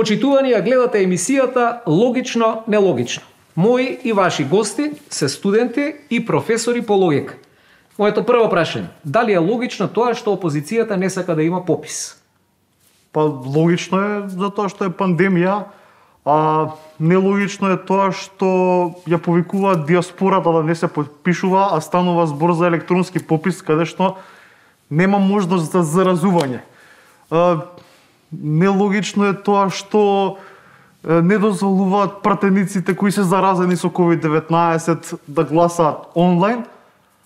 Почитувани, ја гледате емисијата Логично, нелогично. Мои и ваши гости се студенти и професори по логика. Моето прво прашање, дали е логично тоа што опозицијата не сака да има попис? Па логично е затоа што е пандемија, а нелогично е тоа што ја повикуваат диаспората да не се подпишува, а станува збор за електронски попис каде што нема можност за заразување. Нелогично е тоа што не дозволуваат пратениците кои се заразени со COVID-19 да гласаат онлайн,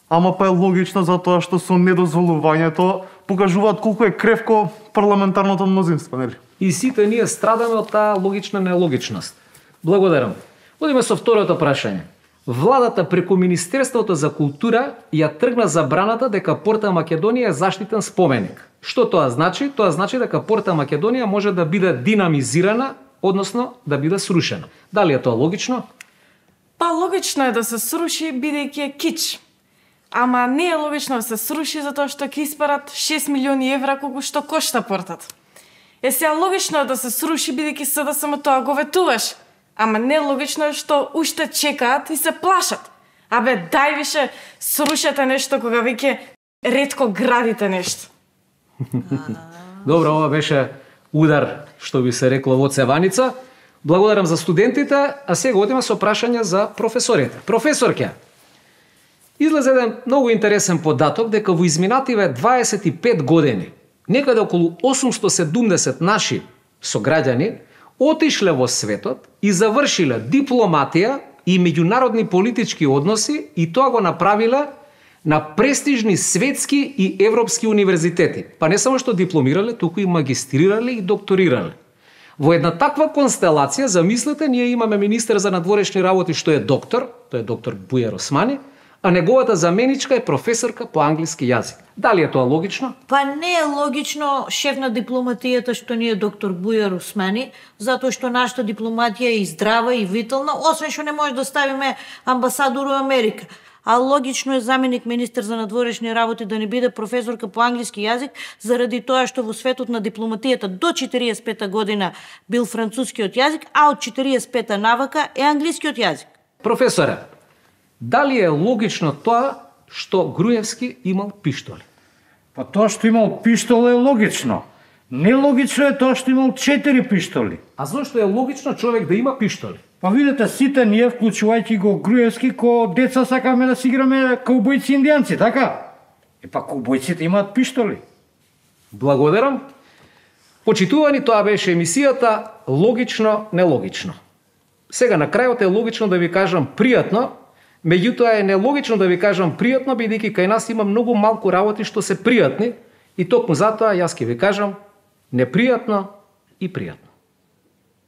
ама па е логично затоа што со недозволувањето покажуваат колку е кревко парламентарното мнозинство, нели? И сите ние страдаме од таа логична нелогичност. Благодарам. Одиме со второто прашање. Владата преку Министерството за култура ја тргна забраната дека Порта Македонија е заштитен споменик. Што тоа значи? Тоа значи дека Порта Македонија може да биде динамизирана, односно да биде срушена. Дали е тоа логично? Па логично е да се сруши бидејќи е кич. Ама не е логично да се сруши затоа што ќе испарат 6 милиони евра колку што кошта портат. Сега логично е да се сруши бидејќи СДСМ тоа го ветуваш. Ама нелогично е што уште чекаат и се плашат. Абе, дај више срушете нешто кога веќе ретко градите нешто. Добро, ова беше удар, што би се рекло во цеваница. Благодарам за студентите, а сега одиме со прашања за професорите. Професорке, излезе еден многу интересен податок дека во изминативе 25 години некаде околу 870 наши сограѓани отишле во светот и завршиле дипломатија и меѓународни политички односи и тоа го направиле на престижни светски и европски универзитети. Па не само што дипломирале, туку и магистрирале и докторирале. Во една таква констелација, замислете, ние имаме министер за надворешни работи што е доктор, тој е доктор Бујар Османи, а неговата заменичка е професорка по англиски јазик. Дали е тоа логично? Па не е логично шеф на дипломатијата што ни е доктор Бујар Османи, затоа што нашата дипломатија е и здрава и витална, освен што не може да ставиме амбасадор во Америка. А логично е заменик министер за надворешни работи да не биде професорка по англиски јазик, заради тоа што во светот на дипломатијата до 45 година бил францускиот јазик, а од 45 навака е англискиот јазик. Професоре, дали е логично тоа што Груевски имал пиштоли? Па тоа што имал пиштол е логично. Нелогично е тоа што имал 4 пиштоли. А зошто е логично човек да има пиштоли? Па видете, сите ние, вклучувајќи го Груевски, ко деца сакаме да си играме каубојци индијанци, така? Па каубојците имаат пиштоли. Благодарам. Почитувани, тоа беше емисијата Логично, нелогично. Сега на крајот е логично да ви кажам пријатно, меѓутоа е нелогично да ви кажам пријатно, бидејќи кај нас има многу малку работи што се пријатни и токму затоа јас ќе ви кажам непријатно и пријатно.